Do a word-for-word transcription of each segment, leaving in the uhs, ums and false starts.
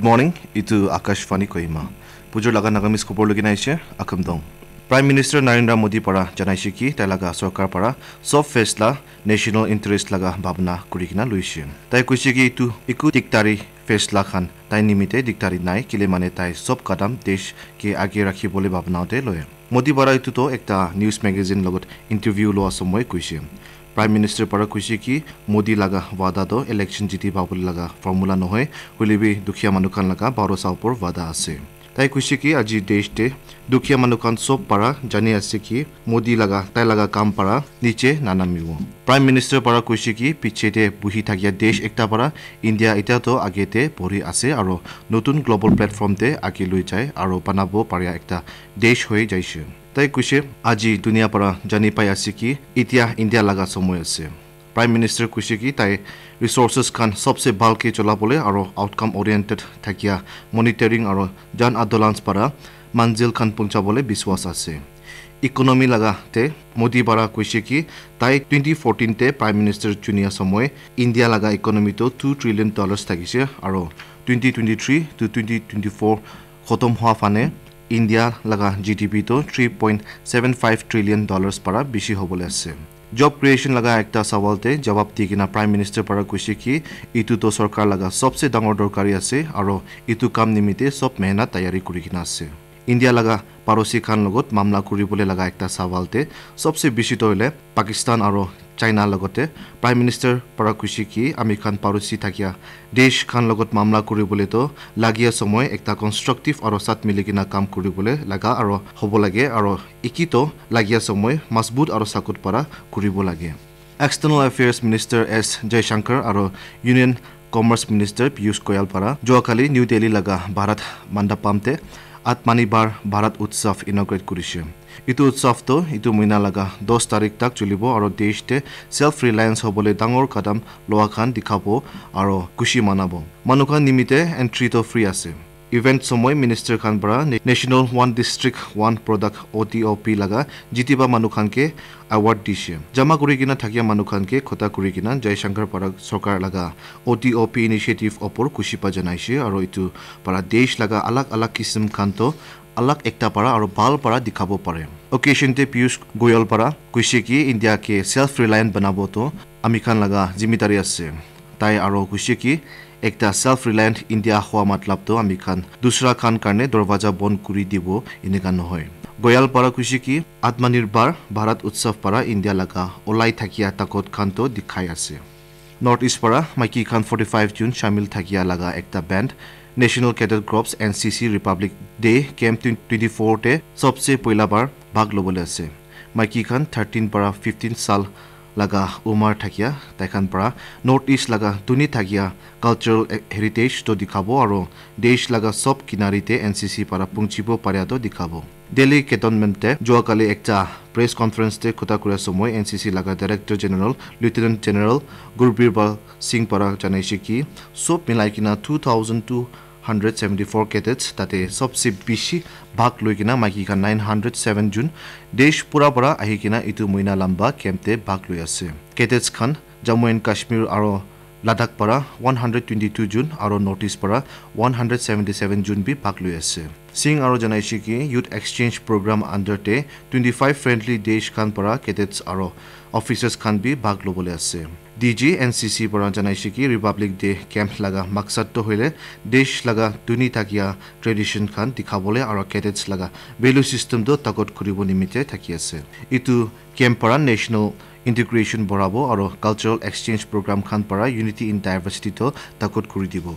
Morning, itu Akashvani Kohima. Bujur laga Nagamese khobor lukina aishe, Akham Dong. Prime Minister Narendra Modi para janaishe ki tai laga sorkar para sob faisla national interest laga bhabna kuri kena loishe. Tai koishe ki itu eku diktari faisla khan tai nimite diktari nai, kile mane tai sob kadam desh ke aage rakhi bole bhabna te loye. Modi para itu to ekta news magazine logot interview loa somoy koishe. Prime Minister para koishe ki Modi laga wada to election jiti pabole laga formula nohoi, hoile bi dukhiya manu khan laga bharosa upor wada ase. Tai koishe ki aji desh te dukhiya manu khan sob para jani ase ki Modi laga, tai laga kam para niche nanamibo. Prime Minister para koishe ki piche te buhi thakia desh ekta para India itya to age te bori ase aro notun global platform te age loi jai aro banabo paria ekta desh hoi jaishe. Tai koishe aji dunia para jani pai ase ki itya India laga somoy ase. Prime Minister koishe ki tai resources khan sobse bhal ke chola bole aro outcome oriented thakia monitoring aro jan adolans para manzil khan puncha bole biswas ase. Economy laga te Modi para koishe ki tai twenty fourteen te Prime Minister chunia somoy India laga economy to two trillion dollars thakishe aro twenty twenty-three to twenty twenty-four khotom hua fane India laga G D P to three point seven five trillion dollars para bishi hobole ase. Job creation laga ekta sawal te jawab di kena Prime Minister para koishe ki itu to sorkar laga sobse dangor dorkari ase aro itu kam nimite sob mehnat tayari kuri kena ase. India laga parosi khan logot mamla kuri bole laga ekta sawal te sobse bishi to hoile Pakistan aro China logote Prime Minister para koishe ki ami khan parosi thakia desh khan logot mamla kuri bole to lagia somoy ekta constructive aro sat mili kena kam kuri bole laga aro hobo lage aro iki to lagia somoy masbut aro sakut para kuri bo lage. External Affairs Minister S Jaishankar aro Union Commerce Minister Piyush Goyal para juakali New Delhi laga Bharat Mandapam te Atmanirbhar Bharat Utsav inaugurate kurishe. Itu utsav to itu muina laga dos tarik tak chulibo aro desh te self reliance hobole dangor kadam loa khan dikhabo aro khushi manabo. Manu khan nimite entry to free ase. Event somoy minister khan para Na-, National One District One Product O D O P laga jitiba manu khan ke award dishe. Jama kuri kena thakia manu khan ke khota kuri kena Jaishankar para sorkar laga O D O P initiative opor khushi pa janaishe aro itu para desh laga alag alag kisim khan to alag ekta para aro bhal para dikhabo pare. Occasion te Piyush Goyal para koishe ki India ke self reliant banabo to ami khan laga zimidari ase. Tai aro koishe ki ekta self reliant India hua matlab to ami khan dusra khan karne dorwaja bon kuri dibo enika nohoi. Goyal para koishe ki Atmanirbhar Bharat Utsav para India laga olai thakia takot khan to dikhai ase. North East para maiki khan forty-five June shamil thakia laga ekta band National Cadet Corps N C C Republic Day Camp twenty twenty-four te sobse poila bar bhag lobole ase. Maiki khan thirteen para fifteen sal laga umar thakia tai khan para North East laga duni thakia cultural heritage to dikhabo aro desh laga sob kinari te N C C para pungchibo paria to dikhabo. Delhi Cantonment te juakali ekta press conference te khuta kura somoy N C C laga Director General Lieutenant General Gurbirbal Singh para janaishe ki sob milai kena two thousand two hundred seventy-four cadets tate sobse bishi bhag loi kena maiki khan nine hundred seven jon desh pura para ahi kena itu muina lamba camp te bhag loi ase. Cadets khan Jammu and Kashmir aro Ladakh para one hundred twenty-two jon aro North East para one hundred seventy-seven jon bi bhag loi ase. Singh aro janaishe ki Youth Exchange Program under te twenty-five friendly desh khan para cadets aro officers khan bi bhag lobole ase. D G N C C para janaishe ki Republic Day Camp laga maksad to hoile desh laga duni thakia tradition khan dikhabole aro cadets laga value system to takot kuribo nimite thaki ase. Itu camp para national integration borabo aro cultural exchange program khan para unity in diversity to takot kuri dibo.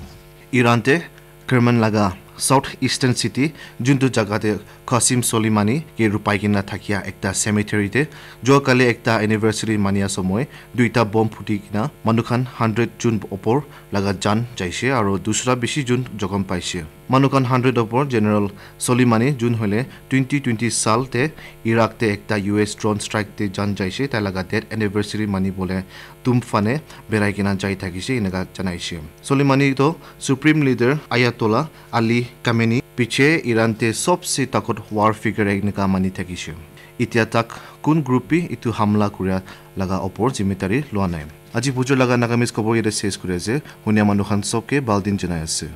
Iran te Kerman laga South Eastern City, juntu jaga te Qasem Soleimani ke rupai kena thakia ekta cemetery te, juakali ekta anniversary mania somoy, duita bomb phuti kena manu khan hundred jon opor laga jan jaishe aro dusra bishi jon jokhom paishe. Manu khan hundred opor General Soleimani jun hoile twenty twenty sal te Iraq te ekta U S drone strike te jan jaishe, tai laga death anniversary mani bole tum fane berai kena jai thakishe, eneka janaishe. Soleimani to Supreme Leader Ayatollah Ali Khamenei piche Iran te sobse takot war figure eneka mani thakishe. Itya tak kun group bi itu hamla kuria laga opor zimmetari lua nai. Aji bujur laga Nagamese khobor yate ses kuri ase. Hunia manu khan sobke bal din janai ase.